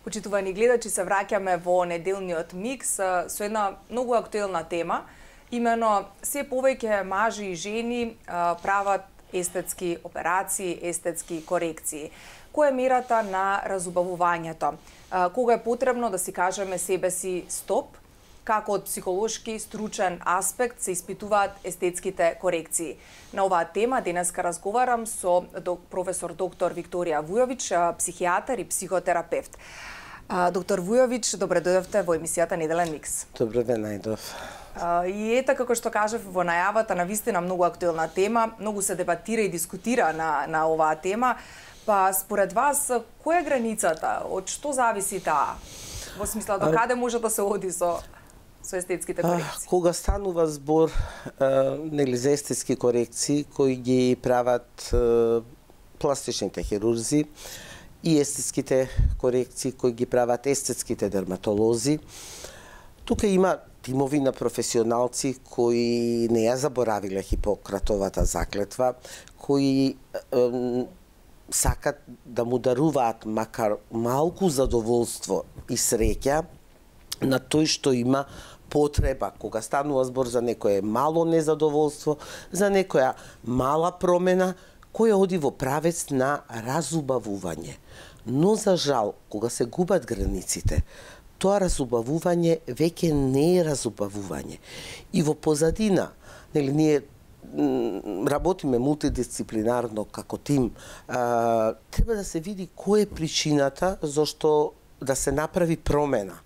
Почитувани гледачи, се враќаме во неделниот микс со една многу актуелна тема. Имено, се повеќе мажи и жени прават естетски операции, естетски корекции. Која е мерата на разубавувањето? Кога е потребно да си кажеме себе си стоп? Како од психолошки, стручен аспект се испитуваат естетските корекции? На оваа тема денеска разговарам со професор доктор Викторија Вујовиќ, психијатар и психотерапевт. Доктор Вујовиќ, добре дојдовте во емисијата Неделен микс. Добре ве најдов. И ета, како што кажав во најавата, навистина многу актуелна тема, многу се дебатира и дискутира на оваа тема. Па според вас, која е границата? Од што зависи таа? Во смисла, до каде може да се оди со естетските корекции? Кога станува збор за естетски корекции кои ги прават пластичните хирурзи и естетските корекции кои ги прават естетските дерматолози, тука има тимови на професионалци кои не ја заборавиле Хипократовата заклетва, кои сакат да му даруваат макар малку задоволство и среќа на тој што има потреба. Кога станува збор за некое мало незадоволство, за некоја мала промена, која оди во правец на разубавување. Но за жал, кога се губат границите, тоа разубавување веќе не е разубавување. И во позадина, ние работиме мултидисциплинарно како тим, треба да се види која е причината зашто да се направи промена.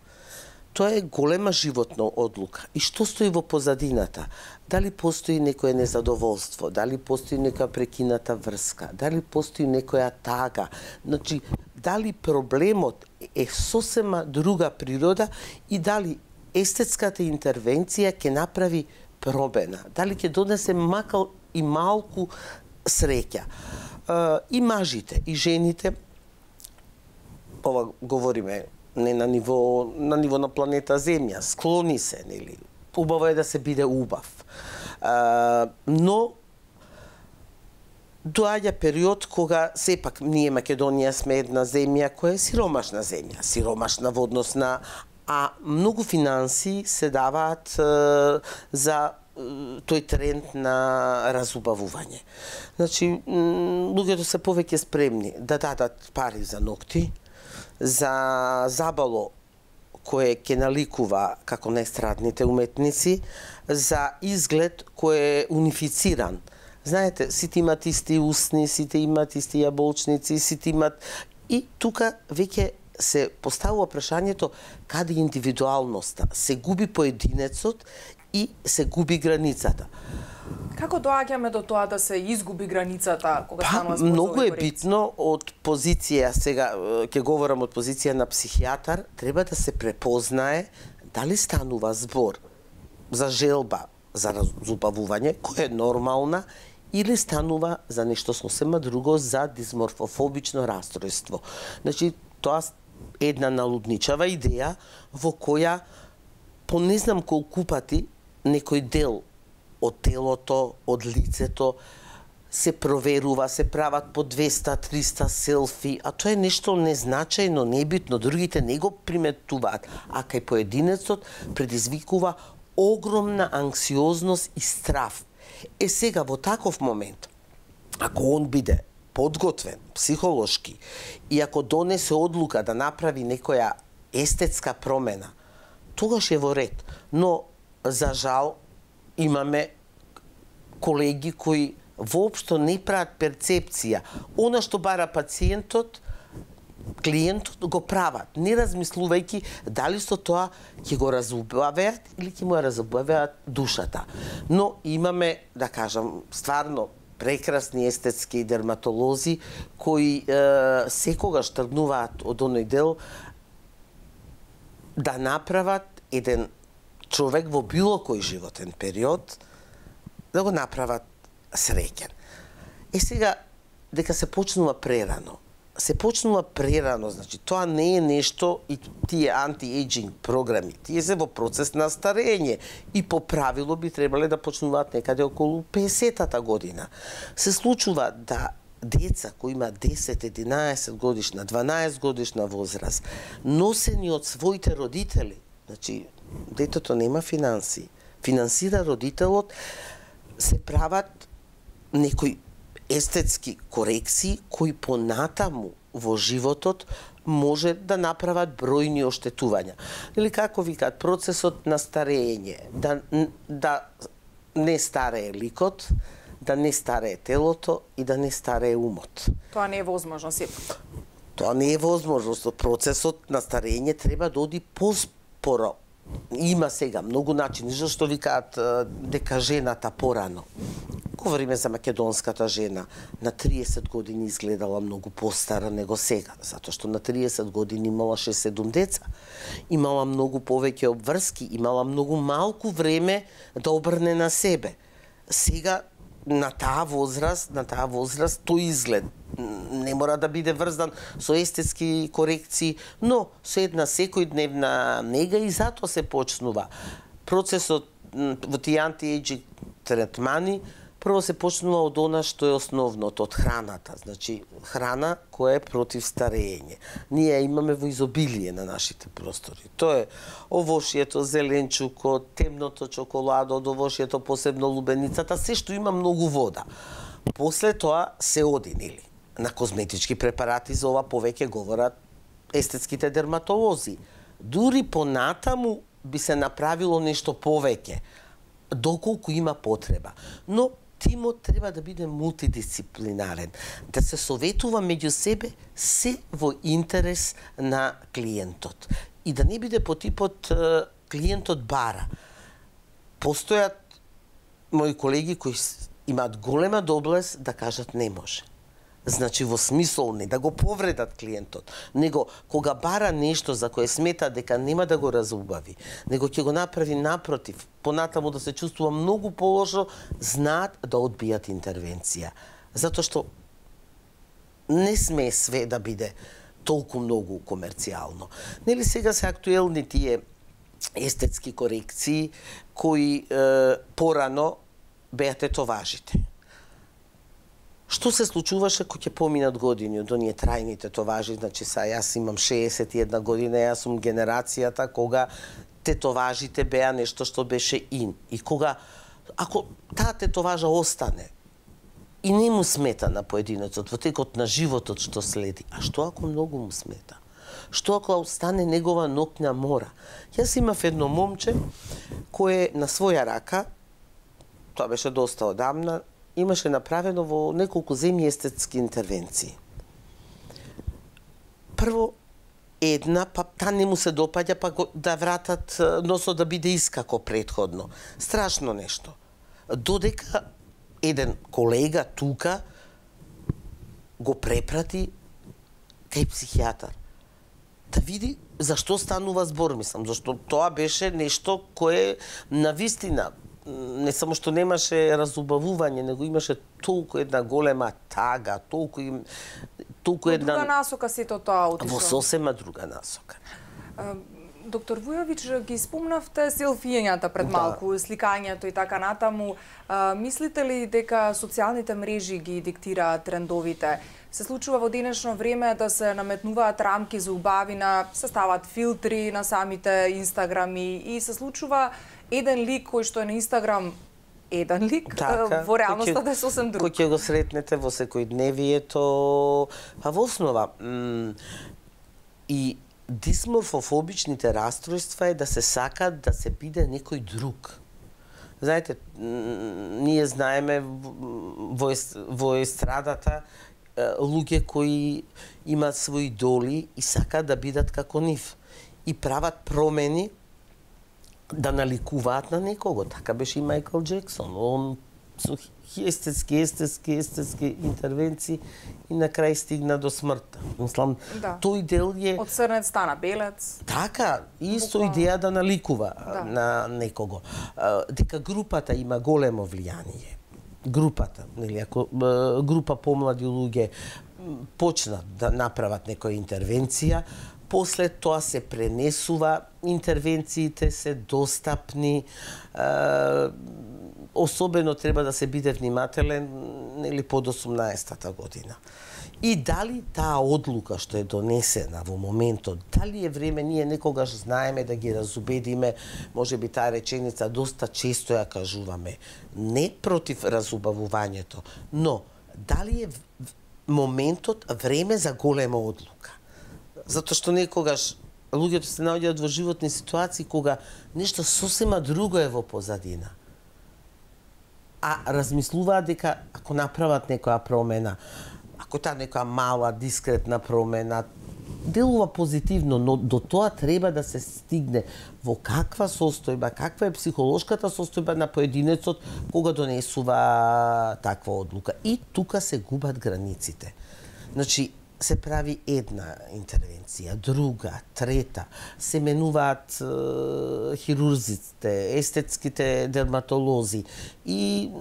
Тоа е голема животна одлука. И што стои во позадината? Дали постои некое незадоволство, дали постои нека прекината врска, дали постои некоја тага. Значи, дали проблемот е сосема друга природа и дали естетската интервенција ќе направи промена, дали ќе донесе макал и малку среќа. И мажите, и жените, ова говориме не на ниво на планета Земја, склони се, нели? Убаво е да се биде убав. Но доаѓа период кога сепак ние Македонија сме една земја која е сиромашна земја, сиромашна во однос на многу финанси се даваат за тој тренд на разубавување. Значи, луѓето се повеќе спремни да дадат пари за ногти, за забало кое ќе наликува како најстрадните уметници, за изглед кој е унифициран. Знаете, сите имат исти усни, сите имат исти јаболчници, сите имат... И тука веќе се поставува прашањето каде индивидуалноста. Се губи поединецот и се губи границата. Како доаѓаме до тоа да се изгуби границата кога станува збор за многу е битно од позиција, сега ќе говорам од позиција на психијатар, треба да се препознае дали станува збор за желба за разубавување, која е нормална, или станува за нешто сосема друго, за дисморфофобично растројство. Значи, тоа е една налудничава идеја во која по не знам колку пати некој дел од телото, од лицето, се проверува, се прават по 200-300 селфи, а тоа е нешто незначајно, небитно, другите не го приметуваат, а кај поединецот предизвикува огромна анксиозност и страв. Сега во таков момент, ако он биде подготвен психолошки и ако донесе одлука да направи некоја естетска промена, тогаш е во ред. Но, за жал, имаме колеги кои воопшто не прават перцепција. Она што бара пациентот, клиентот го прават, не размислувајќи дали со тоа ќе го разубавеат или ќе му ја разубавеат душата. Но имаме, да кажам, стварно прекрасни естетски дерматолози кои секогаш тргнуваат од оној дел да направат еден човек во било кој животен период да го направат среќен. Сега, дека се почнува прерано. Значи, тоа не е нешто и тие анти-ејджинг програми, тие се во процес на старење и по правило би требале да почнуваат некаде околу 50-та година. Се случува да деца кои има 10, 11 годишна, 12 годишна возраст, носени од своите родители, значи детето нема финанси, финансира родителот, се прават некои естетски корекции кои понатаму во животот може да направат бројни оштетувања. Или како викаат, процесот на старење, да не старее ликот, да не старее телото и да не старее умот. Тоа не е возможно сепак. Тоа не е возможно. Процесот на старење треба да оди поспоро. Има сега многу начини, зашто викаат дека жената порано. Говориме за македонската жена. На 30 години изгледала многу постара него сега, затоа што на 30 години имала 6-7 деца. Имала многу повеќе обврски, имала многу малку време да обрне на себе. Сега на таа возраст тој изглед не мора да биде врзан со естетски корекции, но со една секојдневна нега и затоа се почнува. Процесот во тие анти-ејджинг третмани прво се почнува од она што е основното, од храната. Значи, храна која е против старење. Ние имаме во изобилие на нашите простори. Тоа е овошјето, зеленчукот, темното чоколадо, од овошјето посебно лубеницата, се што има многу вода. После тоа се оди, нели? На козметички препарати, за ова повеќе говорат естетските дерматолози. Дури понатаму би се направило нешто повеќе, доколку има потреба. Но тимот треба да биде мултидисциплинарен, да се советува меѓу себе се во интерес на клиентот и да не биде по типот клиентот бара. Постојат мои колеги кои имаат голема доблест да кажат не може. Значи во смисол не да го повредат клиентот, него кога бара нешто за кое смета дека нема да го разубави, него ќе го направи напротив, понатаму да се чувствува многу полошо, знаат да одбијат интервенција. Затоа што не сме све да биде толку многу комерцијално. Нели сега се актуелни тие естетски корекции кои порано беа тетоважите. Што се случуваше кога ќе поминат години од оние трајни тетоважи, значи јас имам 61 година, јас сум генерацијата кога тетоважите беа нешто што беше ин. И кога, ако таа тетоважа остане и не му смета на поединецот во текот на животот што следи, а што ако многу му смета? Што ако остане негова ноќна мора? Јас имав едно момче кое на своја рака, тоа беше доста одамна, имаше направено во неколку земји естетски интервенции. Прво, една, па та не му се допаѓа, па да вратат носот да биде искако претходно. Страшно нешто. Додека еден колега тука го препрати кај психијатар. Да види зашто станува збор, мислам, зашто тоа беше нешто кое навистина не само што немаше разубавување, него имаше толку една голема тага, толку една... Во друга насока сето тоа отишло. Во сосема друга насока. Доктор Вујовиќ, ги спомнавте селфијањата пред малку, сликањето и така натаму. Мислите ли дека социјалните мрежи ги диктираат трендовите? Се случува во денешно време да се наметнуваат рамки за убавина, се стават филтри на самите инстаграми и се случува еден лик кој што е на Инстаграм еден лик, така, во реалноста да е сосем друг. Кој ќе го сретнете во секојдневието, па во основа и дисморфофобичните растројства е да се сакат да се биде некој друг. Знаете, ние знаеме во естрадата луѓе кои имаат своји идоли и сакаат да бидат како нив и прават промени да наликуваат на некого. Така беше и Мајкл Джексон. Он со естетски интервенции и на крај стигна до смртта. Мислам, тој дел е... Од црнец стана белец. Така, исто идеја да наликува на некого. Дека групата има големо влијание. Групата, нели, ако група помлади луѓе почнат да направат некоја интервенција, после тоа се пренесува, интервенциите се достапни, особено треба да се биде внимателен или под 18-та година. И дали таа одлука што е донесена во моментот, дали е време, ние некогаш знаеме да ги разубедиме, може би таа реченица доста често ја кажуваме, не против разубавувањето, но дали е моментот време за голема одлука. Затоа што некогаш луѓето се наоѓаат во животни ситуации кога нешто сосема друго е во позадина. А размислуваат дека ако направат некоја промена, ако таа некоја мала, дискретна промена, делува позитивно, но до тоа треба да се стигне во каква состојба, каква е психолошката состојба на поединецот кога донесува таква одлука. И тука се губат границите. Значи, се прави една интервенција, друга, трета, се менуваат хирурзите, естетските дерматолози и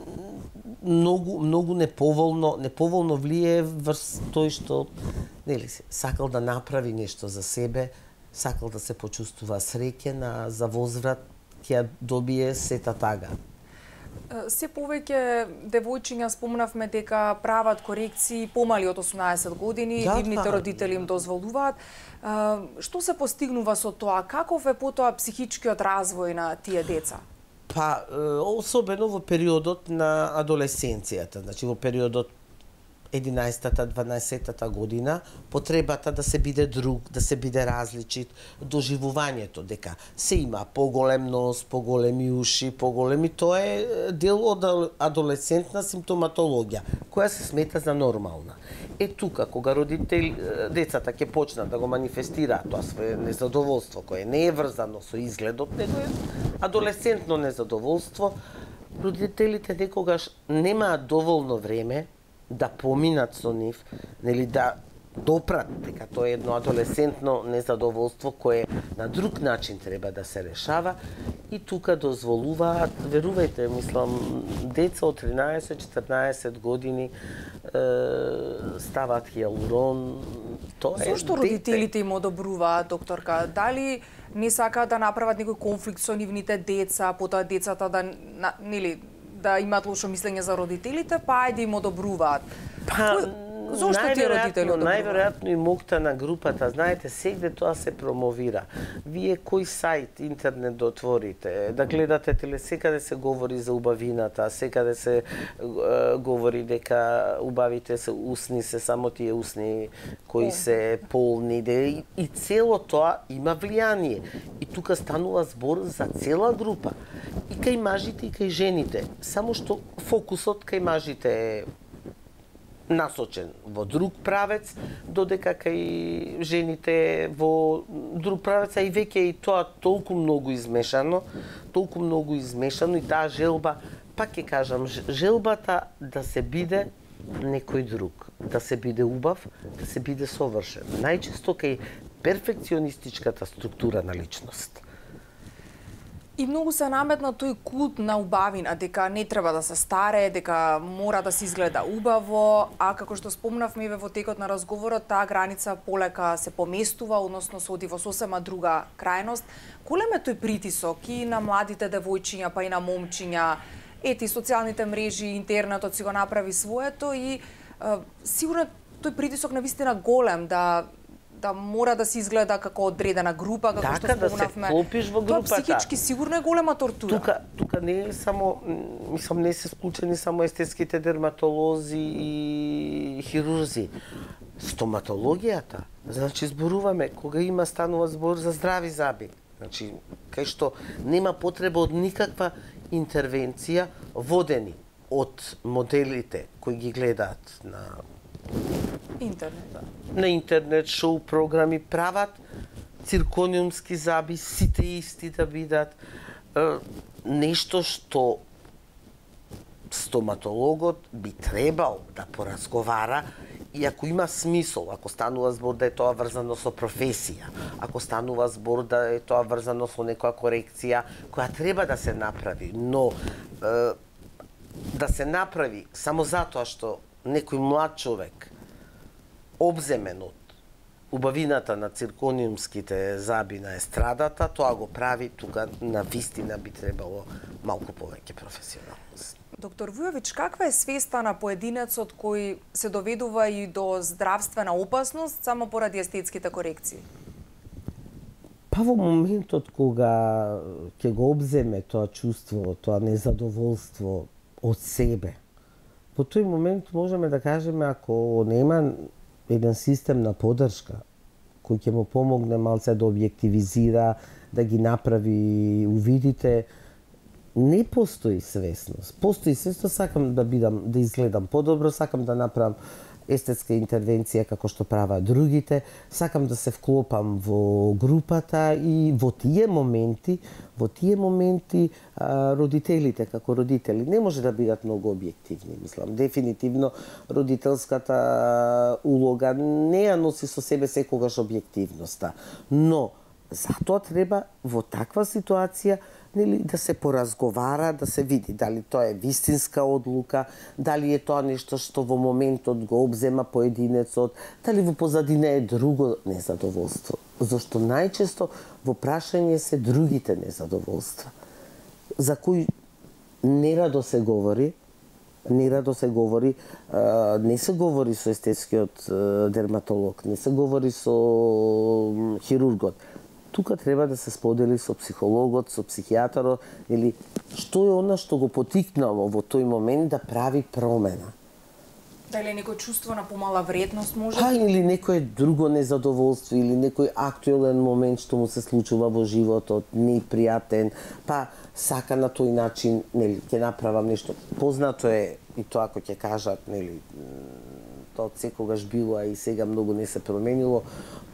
многу неповолно влие врз тој што сакал да направи нешто за себе, сакал да се почувствува среќен, а за возврат ќе ја добие сета тага. Се повеќе девојчиња спомнавме дека прават корекции помали од 18 години, нивните родители им дозволуваат. Што се постигнува со тоа? Каков е потоа психичкиот развој на тие деца? Па, особено во периодот на адолесценцијата, значи во периодот 11-та, 12-та година, потребата да се биде друг, да се биде различит, доживувањето дека се има поголем нос, поголеми уши, поголеми, тоа е дел од адолесцентна симптоматологија, која се смета за нормална. Е тука, кога децата ќе почнат да го манифестираат тоа свое незадоволство, кое не е врзано со изгледот, него е адолесцентно незадоволство, родителите некогаш немаат доволно време да поминат со нив, нели да допрат дека тоа е едно адолесцентно незадоволство кое на друг начин треба да се решава и тука дозволуваат, верувајте, мислам, деца од 13-14 години ставаат хиалурон. Тоа е зошто родителите им одобруваат, докторка? Дали не сакаат да направат некој конфликт со нивните деца, потоа децата да имаат лошо мислење за родителите, па ајде им одобруваат? Зошто тие родители одобруваат? Најверојатно и мокта на групата, знаете, сегде тоа се промовира. Вие кој сајт интернет да отворите, да гледате секаде се говори за убавината, секаде се говори дека убавите се усни, се само тие усни кои се полни, и цело тоа има влијание. И тука станува збор за цела група. И кај мажите и кај жените, само што фокусот кај мажите е насочен во друг правец, додека кај жените во друг правец, а и веќе и тоа толку многу измешано и таа желба, пак ќе кажам, желбата да се биде некој друг, да се биде убав, да се биде совршен. Најчесто кај перфекционистичката структура на личност. И многу се наметна тој култ на убавина, дека не треба да се старе, дека мора да се изгледа убаво, а како што спомнавме во текот на разговорот, таа граница полека се поместува, односно се оди во сосема друга крајност. Голем е тој притисок и на младите девојчиња, па и на момчиња, ети социјалните мрежи, интернетот си го направи своето и сигурно тој притисок навистина голем да мора да се изгледа како одредена група, како што спомнавме. Да се вклопиш во групата. Тоа психички сигурно е голема тортура. Тука не е само, мислам, не се склучени само естетските дерматолози и хирурзи. Стоматологијата, значи зборуваме кога станува збор за здрави зъби. Значи, кај што нема потреба од никаква интервенција, водени од моделите кои ги гледаат на интернет, шоу програми, прават циркониумски зъби, сите исти да бидат. Нешто што стоматологот би требал да поразговара и ако има смисол, ако станува збор да е тоа врзано со професија, ако станува збор да е тоа врзано со некоја корекција која треба да се направи, но да се направи само затоа што некој млад човек обземен од убавината на циркониумските заби на естрадата, тоа го прави тука на вистина би требало малку повеќе професионалност. Доктор Вујович, каква е свеста на поединецот кој се доведува и до здравствена опасност само поради естетските корекции? Па во моментот кога ќе го обземе тоа чувство, тоа незадоволство од себе, во тој момент можеме да кажеме, ако нема еден систем на поддршка кој ќе му помогне малце да објективизира, да ги направи увидите, не постои свесност. Постои свесност, сакам да изгледам подобро, сакам да направам естетска интервенција како што прават другите, сакам да се вклопам во групата и во тие моменти родителите како родители не може да бидат многу објективни, мислам. Дефинитивно родителската улога не ја носи со себе секогаш објективноста, но затоа треба во таква ситуација да се поразговара, да се види дали тоа е вистинска одлука, дали е тоа нешто што во моментот го обзема поединецот, дали во позадина е друго незадоволство. Зашто најчесто во прашање се другите незадоволства, за кои нерадо се говори, не се говори со естетскиот дерматолог, не се говори со хирургот. Тука треба да се сподели со психологот, со психијатарот, или што е она што го потикнало во тој момент да прави промена. Дали некој чувство на помала вредност може? Па или некој друго незадоволство, или некој актуелен момент што му се случува во животот, непријатен, па сака на тој начин, нели, ќе направам нешто. Познато е и тоа ако ќе кажат, нели, тоа од секогаш било, а и сега многу не се променило,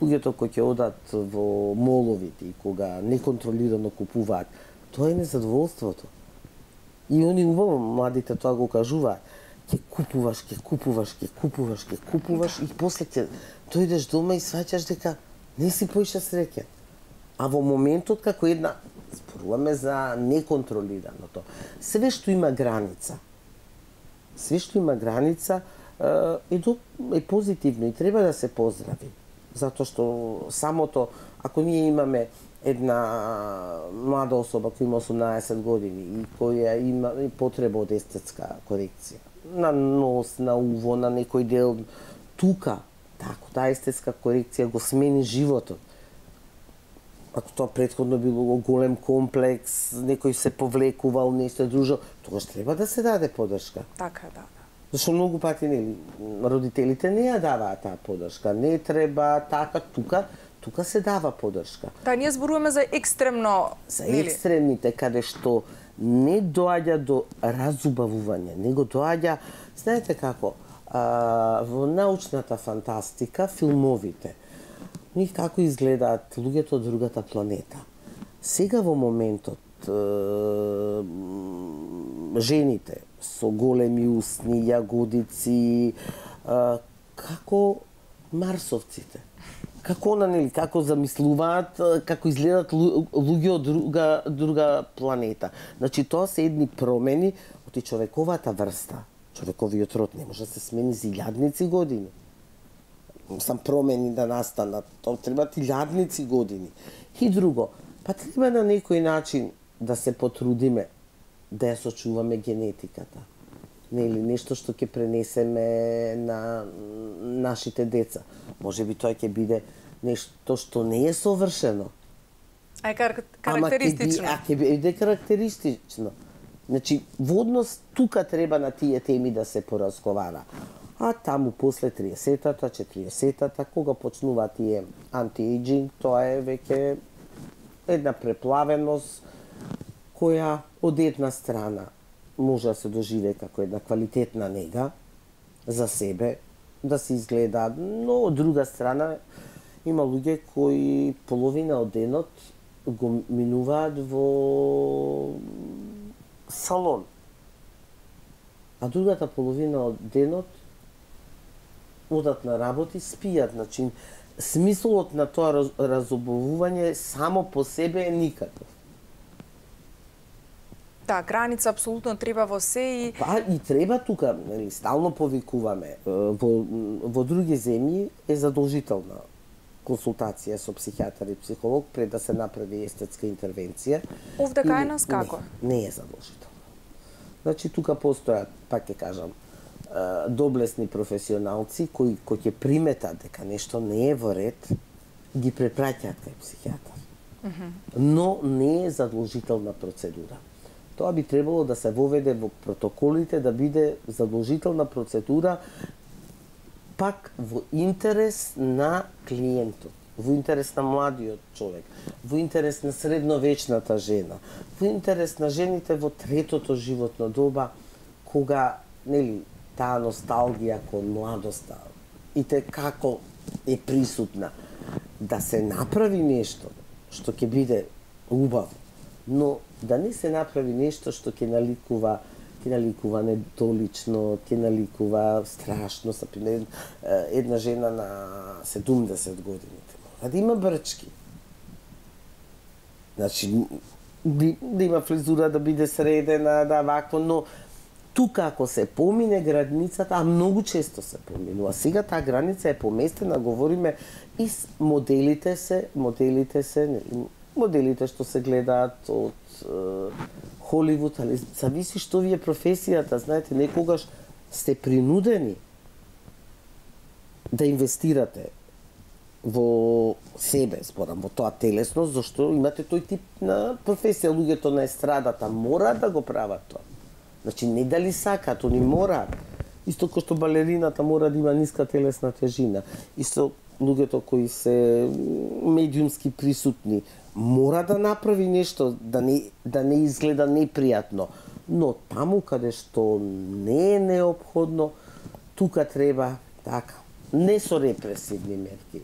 луѓето кои ќе одат во моловите и кога неконтролирано купуваат, тоа е незадоволството. И они убаво, младите тоа го кажуваат. Ќе купуваш и после ќе дојдеш дома и сваќаш дека не си поише среќен. А во моментот како една, зборуваме за неконтролираното, све што има граница е позитивно и треба да се поздрави. Затоа што самото, ако ние имаме една млада особа која има 18 години и која има потреба од естетска корекција, на нос, на уво, на некој дел, тука, таа естетска корекција го смени животот. Ако тоа претходно било голем комплекс, некој се повлекувал, нешто дружо, тогаш треба да се даде поддршка. Така, да. Зашто многу пати, нели, родителите не ја даваат таа поддршка. Не треба така, тука се дава поддршка. Да, ние зборуваме за екстремно, за екстремните, каде што не доаѓа до разубавување, него доаѓа, знаете како, во научната фантастика, филмовите, како изгледаат луѓето од другата планета. Сега во моментот, жените со големи усни, јагодици, како марсовците. Како замислуваат, како изгледат луѓе од друга планета. Значи, тоа се едни промени од човековата врста. Човековиот род не може да се смени за илјадници години. Сам промени да настанат, тоа требат илјадници години. И друго, па треба на некој начин да се потрудиме да ја сочуваме генетиката. Нели, нешто што ќе пренесеме на нашите деца. Може би тоа ќе биде нешто што не е совршено. А е карактеристично. Ќе биде карактеристично. Значи, во однос тука треба на тие теми да се поразговара. А таму после 30-та, 40-та, кога почнуваат тие анти-ејджинг, тоа е веќе една преплавеност која од една страна може да се доживее како една квалитетна нега за себе, да се изгледа, но од друга страна има луѓе кои половина од денот го минуваат во салон, а другата половина од денот одат на работи, спијат. Значи, смислот на тоа разобувување само по себе е никаков. Да, граница апсолутно треба во се и... Па и треба тука, стално повикуваме, во други земји е задолжителна консултација со психијатар и психолог пред да се направи естетска интервенција. Овде кај нас како? Не е задолжително. Значи тука постојат, пак ќе кажам, доблесни професионалци кои ќе приметат дека нешто не е во ред, ги препраќаат кај психијатар. Но не е задолжителна процедура. Тоа би требало да се воведе во протоколите, да биде задолжителна процедура пак во интерес на клиентот, во интерес на младиот човек, во интерес на средновечната жена, во интерес на жените во третото животно доба, кога, нели, таа носталгија кон младоста и те како е присутна, да се направи нешто што ќе биде убаво, но да не се направи нешто што ќе наликува недолично, ќе наликува страшно. Една жена на 70 години да има брчки. Значи, да има фризура, да биде средена, да вакво, но тука ако се помине границата, а многу често се поминува, сега таа граница е поместена, говориме и моделите што се гледаат од Холивуд, али зависи што ви е професијата, знаете, некогаш сте принудени да инвестирате во себе, зборам, во тоа телесност, зашто имате тој тип на професија. Луѓето на естрадата мораат да го прават тоа. Значи, не дали сакаат, они мораат. Исто кој што балерината мора да има ниска телесна тежина. Исто луѓето кои се медиумски присутни мора да направи нешто да не изгледа непријатно. Но таму каде што не е неопходно, тука треба така, не со репресивни мерки,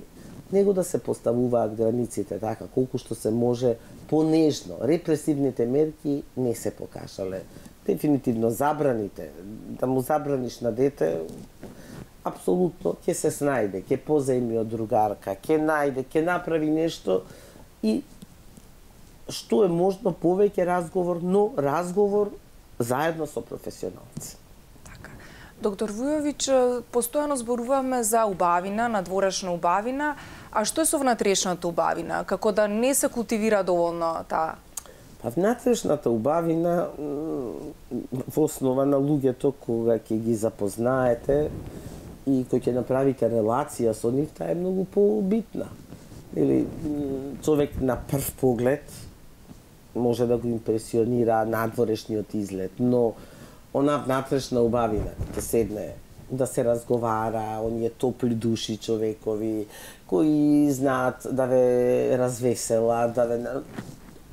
него да се поставуваат границите така колку што се може понежно. Репресивните мерки не се покажале. Дефинитивно забраните, да му забраниш на дете, апсолутно ќе се снајде, ќе позајми од другарка, ќе најде, ќе направи нешто и што е можно повеќе разговор, но разговор заедно со професионалци. Така. Доктор Вујовиќ, постојано зборуваме за убавина, надворешна убавина, а што е со внатрешната убавина? Како да не се култивира доволно таа? Па внатрешната убавина во основа на луѓето кога ќе ги запознаете и кој ќе направите релација со нив, таа е многу побитна. Или човек на прв поглед може да го импресионира надворешниот изглед, но она внатрешна убавина ќе седне да се разговара, оние топли души човекови кои знаат да ве развеселат, да ве...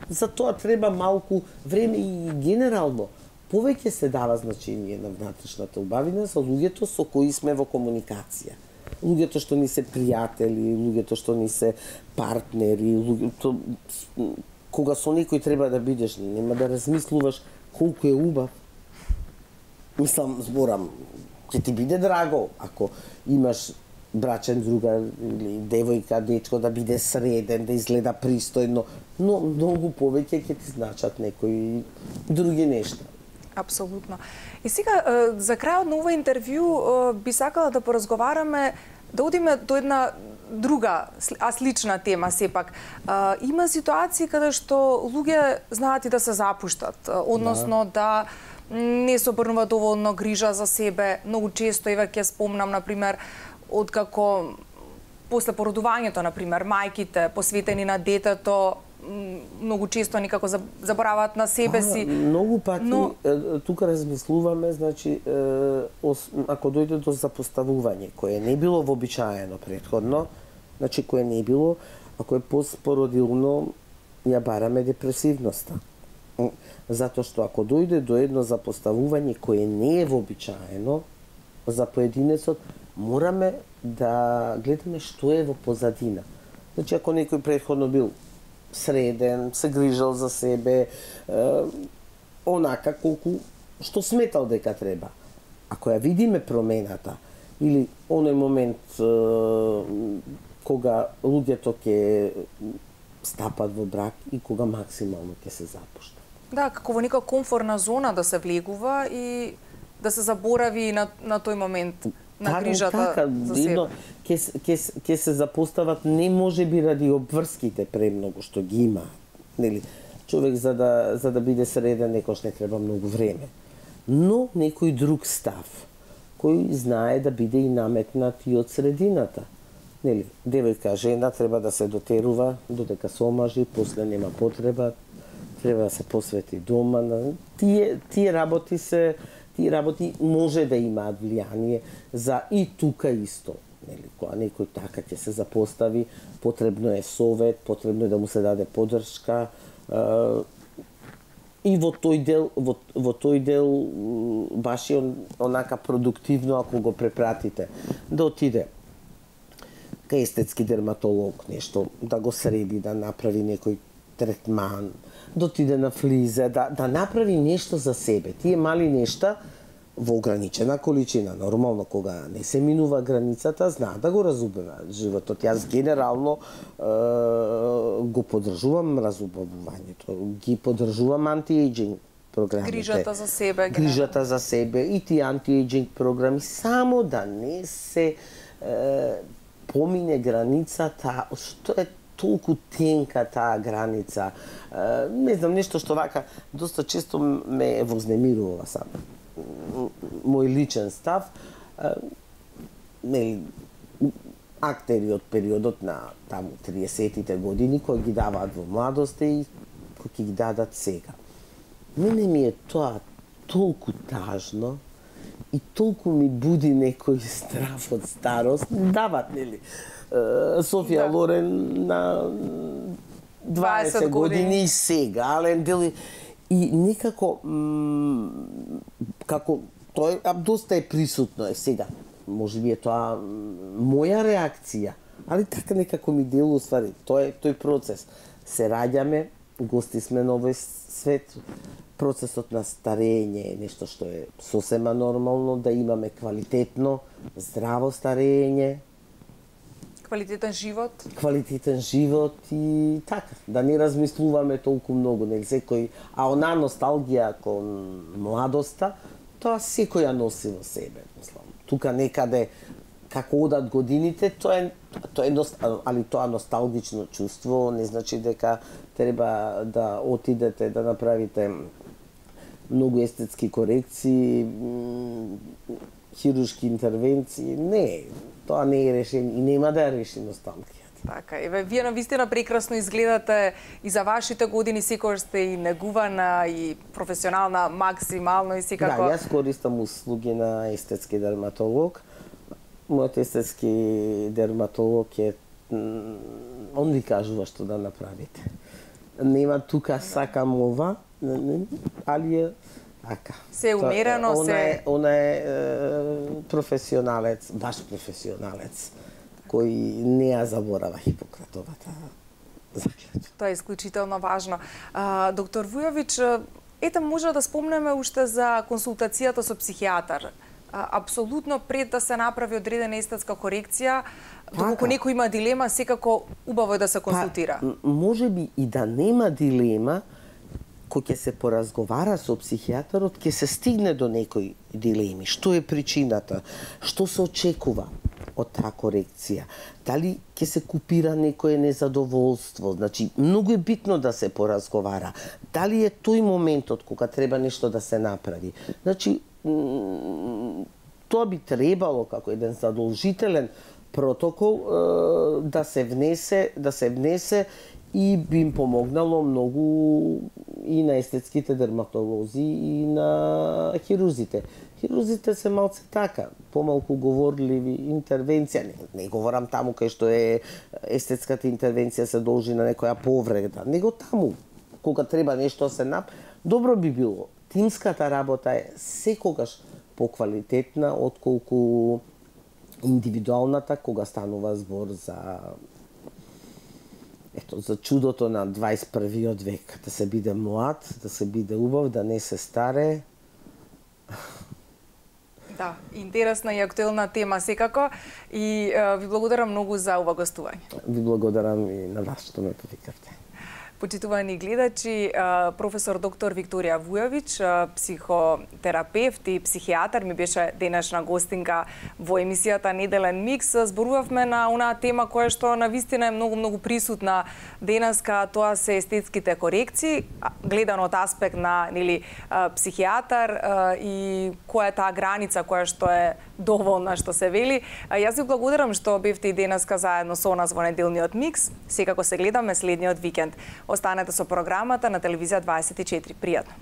За тоа треба малку време и генерално повеќе се дава значение на внатрешната убавина за луѓето со кои сме во комуникација. Луѓето што ни се пријатели, луѓето што ни се партнери, луѓето кога со некој треба да бидеш, нема да размислуваш колку е убав. Мислам, зборам, ќе ти биде драго ако имаш брачен другар или девојка, дечко да биде среден, да изгледа пристојно, но многу повеќе ќе ти значат некои други нешта. Апсолутно. И сега, за крајот на ова интервју, би сакала да поразговараме, да одиме до една друга, а слична тема сепак. Има ситуации каде што луѓе знаат и да се запуштат, односно да не се обрнува доволно грижа за себе. Многу често, еве ќе спомнам, например, откако после породувањето, например, мајките посветени на детето, многу често никако забораваат на себе си. Многу пати тука размислуваме, значи, ако дојде до запоставување, кое не било вообичаено претходно, значи кое не било, ако е постпородилно, ја бараме депресивноста. Затоа што ако дојде до едно запоставување кое не е вообичаено за поединецот, мораме да гледаме што е во позадина. Значи, ако некој претходно бил среден, се грижал за себе, онака колку што сметал дека треба. Ако ја видиме промената, или оној момент кога луѓето ќе стапат во брак и кога максимално ќе се запуштат. Да, како во нека комфортна зона да се влегува и да се заборави на тој момент на грижата за себе. Ќе се запостават не можеби ради обврските премногу што ги има. Нели, човек за да биде среден некош не треба многу време. Но некој друг став кој знае да биде и наметнат и од средината. Нели, девојка, жена треба да се дотерува додека се омажи, после нема потреба, треба да се посвети дома. Тие работи може да имаат влијание за и тука исто. Нели, кога некој така ќе се запостави, потребно е совет, потребно е да му се даде поддршка. И во тој дел баш е онака продуктивно ако го препратите. Да отиде кај естетски дерматолог, нешто, да го среди, да направи некој третман, да отиде на флиза, да направи нешто за себе. Тие мали нешта во ограничена количина. Нормално, кога не се минува границата, знаат да го разубаваат животот. Јас генерално го поддржувам разубавувањето. Ги поддржувам анти-ејджинг програмите. Грижата за себе и тие анти-ејджинг програми, само да не се помине границата, што е толку тенка таа граница. Не знам, нешто што вака доста често ме вознемирува сам. Мој личен став, актери од периодот на таму 30-тите години кои ги даваат во младоста и кои ги дадат сега. Мене ми е тоа толку тажно и толку ми буди некој страв од старост. Дават, нели? Софија Лорен на 20 години и сега, Ален Дели. И некако, како, тој доста е присутно сега. Може би е тоа моја реакција, али така некако ми делува ствари. Тој процес. Се раѓаме, гости сме на овој свет. Процесот на старење е нешто што е сосема нормално, да имаме квалитетно, здраво старење. Квалитетен живот. Квалитетен живот и така, да не размислуваме толку многу, нели секој, а онаа носталгија кон младоста, тоа секој ја носи во себе, мислам. Тука некаде како одат годините, тоа е али тоа носталгично чувство не значи дека треба да отидете да направите многу естетски корекции, хируршки интервенции, не. Тоа не е решение и нема да ја реши носталгијата. Така, вие навистина прекрасно изгледате и за вашите години секогаш сте и негувана и професионална максимално и секако. Да, јас користам услуги на естетски дерматолог. Мојот естетски дерматолог е он ви кажува што да направите. Нема тука сакам ова, али е така. Се умерено, Она е професионалец, баш професионалец, кој не ја заборава Хипократовата заклетва. Тоа е исклучително важно. Доктор Вујович, ете може да спомнеме уште за консултацијата со психијатар. Апсолутно пред да се направи одредена естетска корекција, доколку некој има дилема, секако убаво е да се консултира. Може би и да нема дилема, кој ќе се поразговара со психијатарот, ќе се стигне до некои дилеми. Што е причината? Што се очекува од таа корекција? Дали ќе се купира некое незадоволство? Значи, многу е битно да се поразговара. Дали е тој моментот кога треба нешто да се направи? Значи, тоа би требало како еден задолжителен протокол да се внесе и би им помогнало многу и на естетските дерматолози и на хирурзите. Хирурзите се малце така, помалку говорливи, интервенција. Не говорам таму кај што е естетската интервенција се должи на некоја повреда, него таму, кога треба нешто се направи, добро би било. Тимската работа е секогаш поквалитетна отколку индивидуалната, кога станува збор за чудото на 21-виот век, да се биде млад, да се биде убав, да не се старе. Да, интересна и актуелна тема секако и ви благодарам многу за ова гостување. Ви благодарам и на вас што ме повикавте. Почитувани гледачи, професор доктор Викторија Вујовиќ, психотерапевт и психијатар, ми беше денешна гостинка во емисијата Неделен микс. Зборувавме на онаа тема која што навистина е многу присутна денеска, тоа се естетските корекции, гледано од аспект на психијатар и која е таа граница која што е доволна, што се вели. Јас ви благодарам што бевте и денеска заедно со нас во Неделниот микс. Секако се гледаме следниот викенд. Останете со програмата на Телевизија 24. Пријатно.